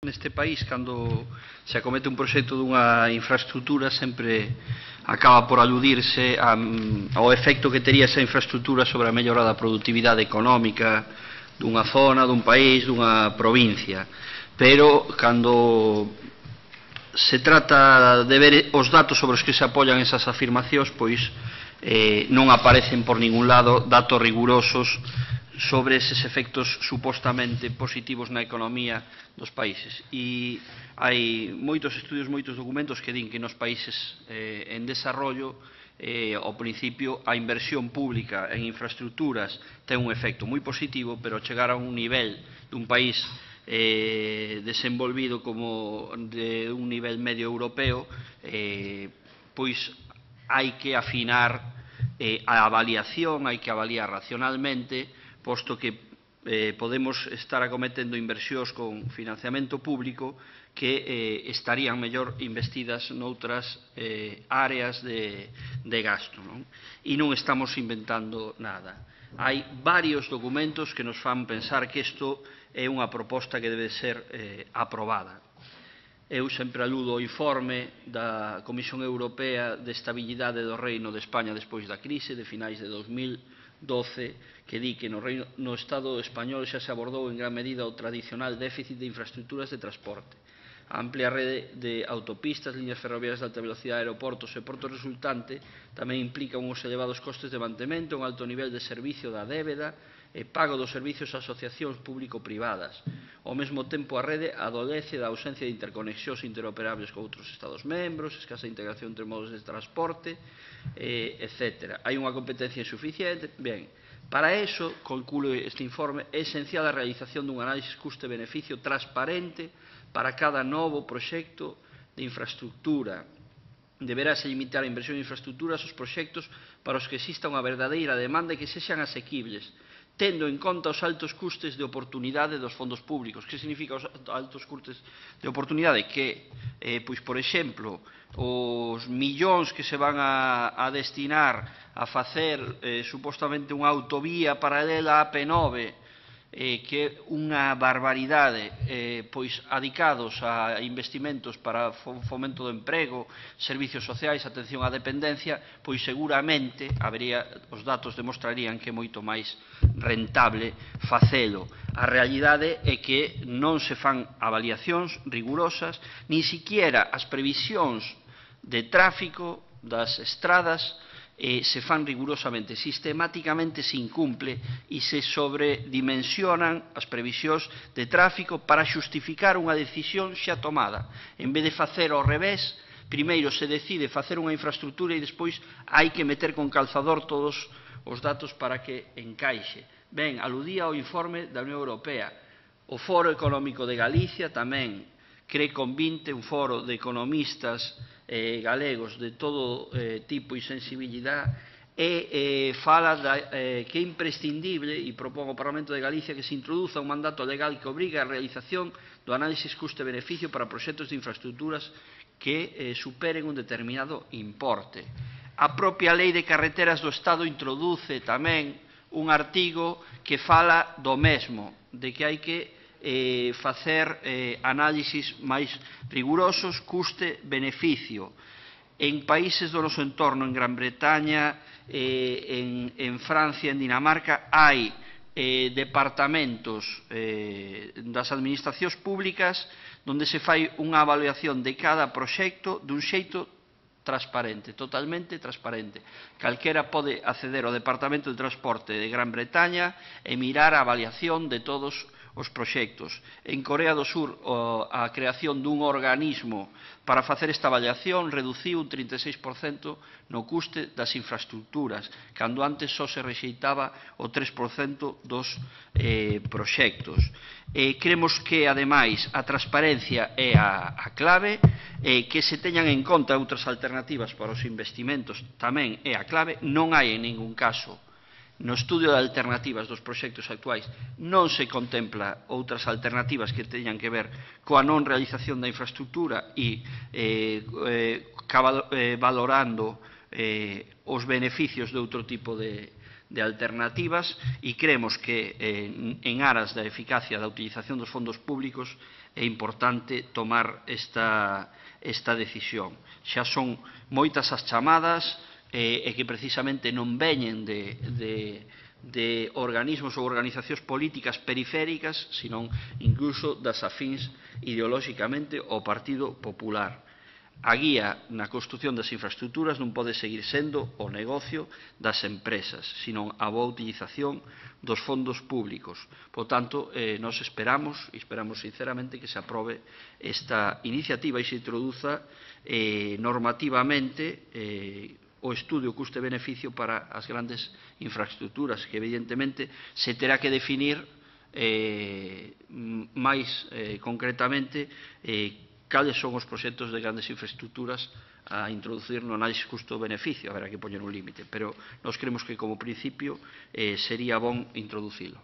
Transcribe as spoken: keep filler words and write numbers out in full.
neste país, cando se acomete un proxecto dunha infraestructura, sempre acaba por aludirse ao efecto que tería esa infraestructura sobre a mellora da productividade económica dunha zona, dun país, dunha provincia. Pero, cando se trata de ver os datos sobre os que se apoian esas afirmacións, pois eh, non aparecen por ningún lado datos rigurosos sobre eses efectos supostamente positivos na economía dos países. E hai moitos estudios, moitos documentos que din que nos países eh, en desarrollo, eh, ao principio, a inversión pública en infraestructuras ten un efecto moi positivo, pero chegar a un nivel dun país eh, desenvolvido como de un nivel medio europeo, eh, pois hai que afinar eh, a avaliación, hai que avaliar racionalmente, posto que eh, podemos estar acometendo inversións con financiamento público que eh, estarían mellor investidas noutras eh, áreas de, de gasto, non? E non estamos inventando nada. Hai varios documentos que nos fan pensar que isto é unha proposta que debe ser eh, aprobada. Eu sempre aludo ao informe da Comisión Europea de Estabilidade do Reino de España despois da crise de finais de dos mil doce, que di que no, Reino, no Estado español xa se abordou en gran medida o tradicional déficit de infraestructuras de transporte. A amplia rede de autopistas, líneas ferroviarias de alta velocidade, aeroportos e portos resultante tamén implica uns elevados costes de mantemento, un alto nivel de servicio da débeda e pago dos servicios a asociacións público-privadas. Ao mesmo tempo, a rede adolece da ausencia de interconexións interoperables con outros Estados membros, escasa integración entre modos de transporte, eh, etcétera. Hai unha competencia insuficiente. Ben, para eso, conclúe este informe, é esencial a realización dun análisis custe-beneficio transparente para cada novo proxecto de infraestructura. Deberase limitar a inversión en infraestructuras aos proxectos para os que exista unha verdadeira demanda e que sexan asequibles, tendo en conta os altos custes de oportunidade dos fondos públicos. Que significa os altos custes de oportunidade? Que, eh, pois, por exemplo, os millóns que se van a, a destinar a facer eh, supostamente unha autovía paralela á P nove, eh, que é unha barbaridade, eh, pois adicados a investimentos para fomento do emprego, servicios sociais, atención á dependencia, pois seguramente habería, os datos demostrarían que é moito máis rentable facelo. A realidade é que non se fan avaliacións rigurosas, nin siquiera as previsións de tráfico das estradas eh, se fan rigurosamente, sistemáticamente se incumple e se sobredimensionan as previsións de tráfico para xustificar unha decisión xa tomada. En vez de facer ao revés, primeiro se decide facer unha infraestructura e despois hai que meter con calzador todos os datos para que encaixe. Ben, aludía ao informe da Unión Europea. O Foro Económico de Galicia tamén cree convinte un foro de economistas eh, galegos de todo eh, tipo e sensibilidade e eh, fala da, eh, que é imprescindible e propón ao Parlamento de Galicia que se introduza un mandato legal que obriga a realización do análisis custe-beneficio para proxectos de infraestructuras que eh, superen un determinado importe. A propia Lei de Carreteras do Estado introduce tamén un artigo que fala do mesmo, de que hai que eh, facer eh, análisis máis rigurosos, custe-beneficio. En países do noso entorno, en Gran Bretaña, eh, en, en Francia, en Dinamarca, hai eh, departamentos eh, das administracións públicas onde se fai unha avaliación de cada proxecto dun xeito transparente, totalmente transparente. Calquera pode acceder ao Departamento de Transporte de Gran Bretaña e mirar a avaliación de todos os proxectos. En Corea do Sur, a creación dun organismo para facer esta avaliación reduciu un trinta e seis por cento no custe das infraestructuras, cando antes só se rexeitaba o tres por cento dos eh, proxectos. Eh, creemos que, ademais, a transparencia é a, a clave, eh, que se teñan en conta outras alternativas para os investimentos tamén é a clave. Non hai en ningún caso no estudio de alternativas dos proxectos actuais non se contempla outras alternativas que teñan que ver coa non realización da infraestructura e eh, eh, valorando eh, os beneficios de outro tipo de, de alternativas, e creemos que eh, en aras da eficacia da utilización dos fondos públicos é importante tomar esta, esta decisión. Xa son moitas as chamadas e, e que precisamente non veñen de, de, de organismos ou organizacións políticas periféricas, senón incluso das afíns ideolóxicamente ao Partido Popular. A guía na construción das infraestructuras non pode seguir sendo o negocio das empresas, senón a boa utilización dos fondos públicos. Por tanto, eh, nos esperamos, e esperamos sinceramente, que se aprobe esta iniciativa e se introduza eh, normativamente eh, o estudio custe-beneficio para as grandes infraestructuras, que evidentemente se terá que definir eh, máis eh, concretamente eh, cales son os proxectos de grandes infraestructuras a introducir no análisis custo-beneficio. Haberá que poñer un límite, pero nós creemos que como principio eh, sería bon introducilo.